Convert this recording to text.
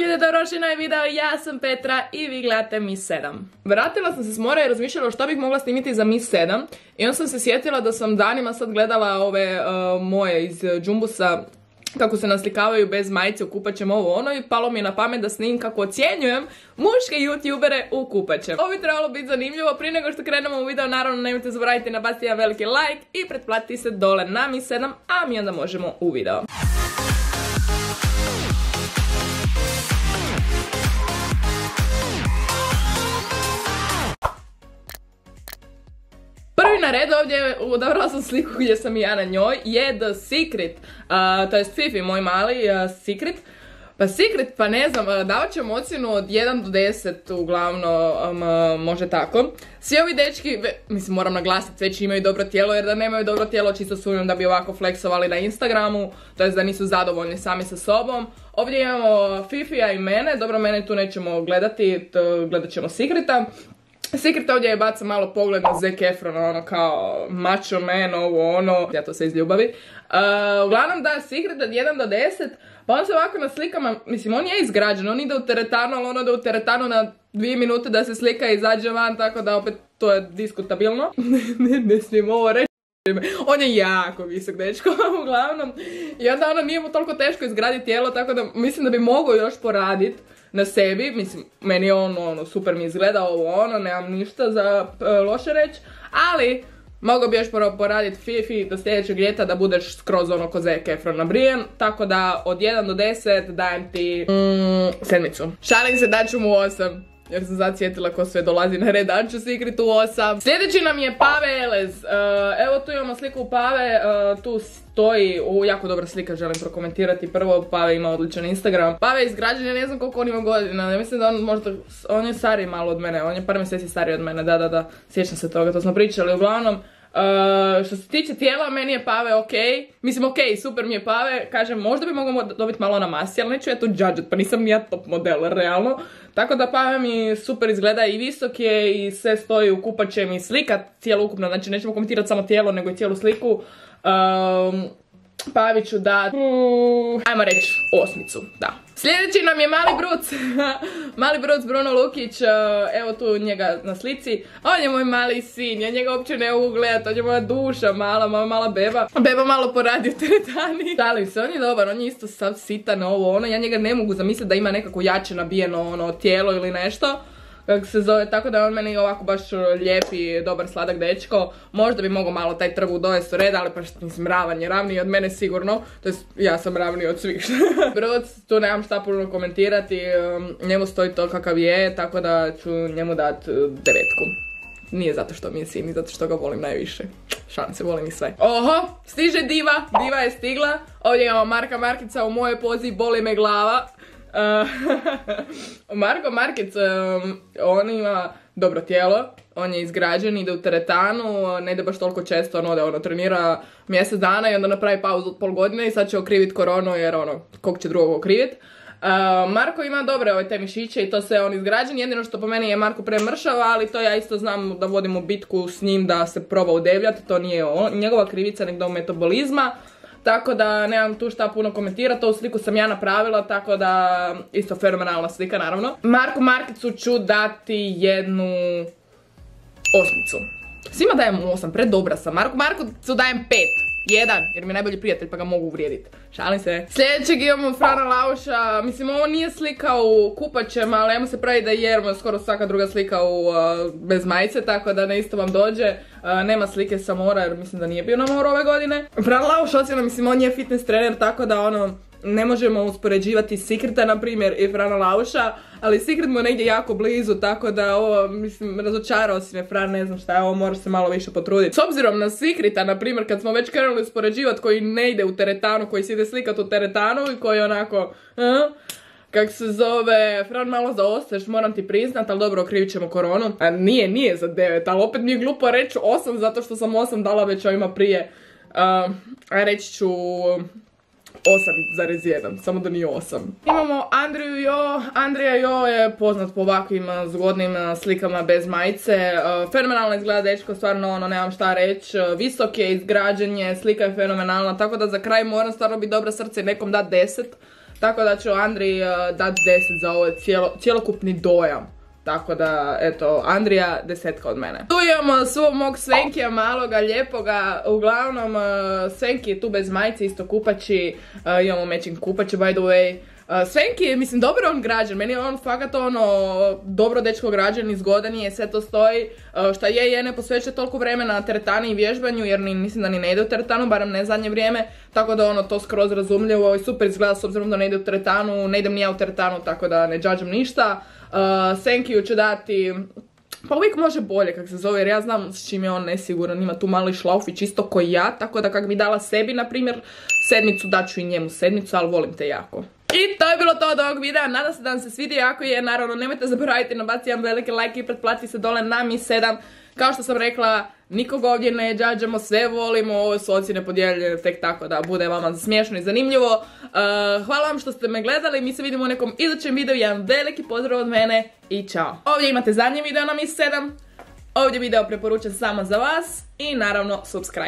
ljudi, dobrodošli na ovaj video, ja sam Petra i vi gledate Miss 7. Vratila sam se s mora i razmišljala što bih mogla snimiti za Miss 7 i onda sam se sjetila da sam danima sad gledala ove moje iz Jumbusa kako se naslikavaju bez majice u kupaćem ovo ono i palo mi je na pamet da snimim kako ocjenjujem muške youtubere u kupaćem. Ovo bi trebalo biti zanimljivo. Prije nego što krenemo u video, naravno nemojte zaboraviti nabaciti jedan veliki like i pretplatiti se dole na Miss 7, a mi onda možemo u video. Prvi na redu ovdje, odabrala sam sliku gdje sam i ja na njoj, je The Secret, to jest Fifi, moj mali Secret. Pa Secret, pa ne znam, davat ćemo ocjenu od 1 do 10, uglavnom, može tako. Svi ovi dečki, mislim moram naglasiti, već imaju dobro tijelo, jer da nemaju dobro tijelo čisto sumnjam da bi ovako fleksovali na Instagramu, to jest da nisu zadovoljni sami sa sobom. Ovdje imamo Fifija i mene, dobro mene tu nećemo gledati, gledat ćemo Secreta. Secret ovdje je baca malo pogled na Zac Efrona, ono kao macho man, ovo ono, ja to se iz ljubavi. Uglavnom da, Secret od 1 do 10, pa on se ovako na slikama, mislim on je izgrađen, on ide u teretanu, ali on ide u teretanu na 2 minute da se slika i izađe van, tako da opet to je diskutabilno. ne smijem ovo reći. On je jako visok dečko, uglavnom. I onda ono nije mu toliko teško izgraditi tijelo, tako da mislim da bi mogao još poraditi na sebi. Mislim, meni je ono super mi izgleda ovo ono, nemam ništa za loše reći, ali mogao bi još poraditi Fifi do sljedećeg ljeta da budeš skroz ono ko Zac Efron nabrijen, tako da od 1 do 10 dajem ti 7. Šalim se, daću mu 8. Jer sam sad sjetila ko sve dolazi na red, daću Secretu 8. Sljedeći nam je Pave Elez. Evo tu imamo sliku Pave, tu stoji, jako dobra slika, želim prokomentirati. Prvo, Pave ima odličan Instagram. Pave je izgrađen, ja ne znam koliko on ima godina, ne mislim da on možda, on je stariji malo od mene, on je par mjeseci stariji od mene, da, sjećam se toga, to smo pričali. Uglavnom, što se tiče tijela, meni je Pave okej. Mislim okej, super mi je Pave. Kažem, možda bi mogao dobiti malo na masi, ali neću ja to judget, pa nisam ni ja top model, realno. Tako da Pave mi super izgleda i visok je i sve stoji u kupaćem i slika cijelo ukupno. Znači nećemo komentirati samo tijelo, nego i cijelu sliku. Paviću da, ajmo reći 8, da. Sljedeći nam je Mali Bruc. Mali Bruc, Bruno Lukić, evo tu njega na slici. On je moj mali sin, ja njega uopće ne mogu gledati, on je moja duša, mala beba. Beba malo poradi u teretani. Šalim se, on je dobar, on je isto sav sitan, ovo ono, ja njega ne mogu zamisliti da ima nekako jače nabijeno ono tijelo ili nešto. Kako se zove, tako da on meni ovako baš lijepi, dobar, sladak dečko. Možda bi mogao malo taj trbuh dovesti u red, ali pa što mislim, ravan je, ravniji od mene sigurno. To jest, ja sam ravniji od svih. Bruc, tu nemam šta puno komentirati, njemu stoji to kakav je, tako da ću njemu dati 9. Nije zato što mi je sin, zato što ga volim najviše. Šalim se, volim i sve. Oho, stiže diva, diva je stigla. Ovdje imamo Marka Markica u mojoj pozi, boli me glava. Marko Markic, on ima dobro tijelo, on je izgrađen, ide u teretanu, ne ide baš toliko često, ono trenira mjesec dana i onda napravi pauzu od pol godine i sad će okriviti koronu jer kog će drugog okriviti. Marko ima dobre te mišiće i to sve on izgrađen, jedino što po meni je Marko premršava, ali to ja isto znam da vodimo bitku s njim da se proba udebljati, to nije njegova krivica nego da metabolizma. Tako da nemam tu šta puno komentirati, ovu sliku sam ja napravila, tako da isto fenomenalna slika naravno. Marku Markicu ću dati 1 8. Svima dajem 8, predobra sam. Marku Markicu dajem 5. 1, jer mi je najbolji prijatelj pa ga mogu uvrijediti. Šalim se. Sljedećeg imamo Frana Lauša. Mislim, ovo nije slika u kupaćem, ali ajmo se pravi da je jer skoro svaka druga slika bez majice, tako da ne isto vam dođe. Nema slike sa mora jer mislim da nije bio na moru ove godine. Fran Lauš ocjena, mislim, on je fitness trener, tako da ne možemo uspoređivati Secreta, na primjer, i Frana Lauša, ali Secret mu je negdje jako blizu, tako da mislim, razočarao si me Fran, ne znam šta je ovo, moraš se malo više potruditi. S obzirom na Secreta, na primjer, kad smo već krenuli uspoređivati koji ne ide u teretanu, koji se ide slikati u teretanu i koji onako, kak se zove, Fran malo zaostaješ, moram ti priznat, ali dobro, okrivit ćemo koronu. A nije za 9, ali opet mi je glupo reći 8, zato što sam 8 dala već ovima prije. A reći ću 8,1, samo da nije 8. Imamo Andriju Jo. Andrija Jo je poznat po ovakvim zgodnim slikama bez majice. Fenomenalno izgleda dečko, stvarno nemam šta reći. Visok je, izgrađen je, slika je fenomenalna, tako da za kraj moram stvarno biti dobra srce i nekom dati 10. tako da ću Andriji dati 10 za ovaj cjelokupni dojam. Tako da, eto, Andrija 10 od mene. Tu imamo svog mog Svenkija maloga, lijepoga. Uglavnom, Svenki je tu bez majice, isto kupači. Imamo matching kupače, by the way. Svenki je, mislim, dobro on građan. Meni je on fakat dobro dečko građan, izgodan je, sve to stoji. Šta je, ne posvećuje toliko vremena teretani i vježbanju, jer mislim da ni ne ide u teretanu, barem ne zadnje vrijeme. Tako da to skroz razumljivo i super izgleda s obzirom da ne ide u teretanu. Ne idem ni ja u teretanu, tako da ne džadžam ništa. Senkiju ću dati, pa uvijek može bolje kak se zove, jer ja znam s čim je on nesiguran, ima tu mali šlaufić isto ko ja, tako da kak bi dala sebi, na primjer, 7, daću i njemu 7, ali volim te jako. I to je bilo to od ovog videa, nadam se da vam se svidio, ako je, naravno nemojte zaboraviti nabaciti jedan veliki like i pretplatiti se dole na Mi 7. Kao što sam rekla, nikog ovdje ne džadžamo, sve volimo, ovo su ocjene podijeljene tek tako da bude vama smiješno i zanimljivo. Hvala vam što ste me gledali, mi se vidimo u nekom idućem videu, jedan veliki pozdrav od mene i čao. Ovdje imate zadnji video na Mi 7, ovdje video preporučen samo za vas i naravno subscribe.